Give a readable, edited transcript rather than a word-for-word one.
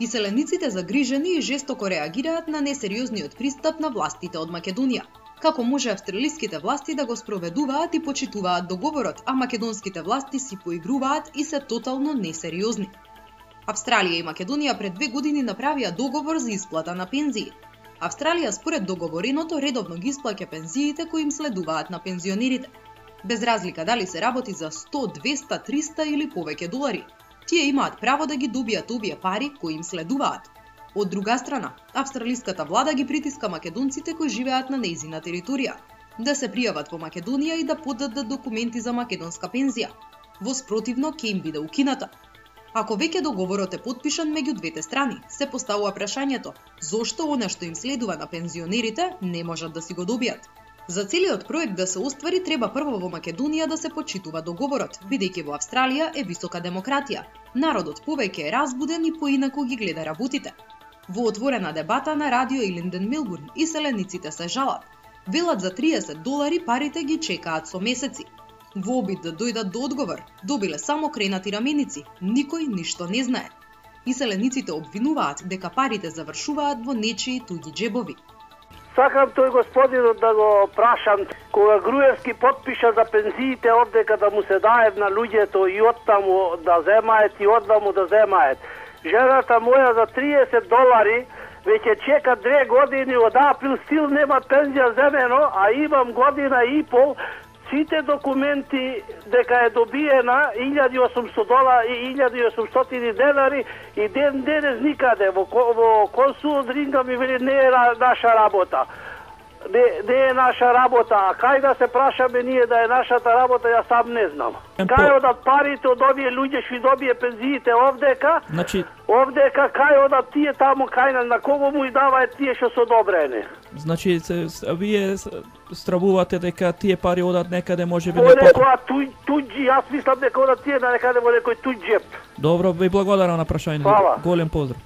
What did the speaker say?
Иселениците загрижени и жестоко реагираат на несериозниот пристап на властите од Македонија. Како може австралиските власти да го спроведуваат и почитуваат договорот, а македонските власти си поигруваат и се тотално несериозни? Австралија и Македонија пред 2 години направија договор за исплата на пензии. Австралија според договореното редовно ги исплаќа пензиите кои им следуваат на пензионерите. Без разлика дали се работи за 100, 200, 300 или повеќе долари. Тие имаат право да ги добијат овие пари кои им следуваат. Од друга страна, австралиската влада ги притиска македонците кои живеат на нејзина територија да се пријават во Македонија и да подадат документи за македонска пензија. Во спротивно ќе им биде укината. Ако веќе договорот е потпишан меѓу двете страни, се поставува прашањето зошто она што им следува на пензионерите не можат да си го добијат. За целиот проект да се оствари треба прво во Македонија да се почитува договорот, бидејќи во Австралија е висока демократија. Народот повеќе е разбуден и поинаку ги гледа работите. Во отворена дебата на радио Илинден Милбурн, иселениците се жалат. Велат за $30 парите ги чекаат со месеци. Во обид да дојдат до одговор, добиле само кренати раменици, никој ништо не знае. Иселениците обвинуваат дека парите завршуваат во нечии туѓи џебови. Сакам тој господинот да го прашам, кога Груевски потпиша за пензиите одека да му се дајат на луѓето и оттаму да земаат и однаму да земаат. Жената моја за $30 веќе чека 2 години од април стил нема пензија земено, а имам година и пол сите документи дека е добиена $1.800 и $1.800 и ден денес никаде во консул Ринга ми вели не е наша работа. Не е наша работа, а кај да се прашаме ние да е нашата работа, ја сам не знам. Кај одат парите од овие луѓе што добие пензиите овдека? Овдека кај одат тие таму кај на кого му даваат тие што се одобрени? Значи вие стравувате дека тие пари одат некаде можеби не туѓи, јас мислам дека одат тие на некаде во некој туѓ џеп. Добро, ви благодарам на прашањето. Голем поздрав.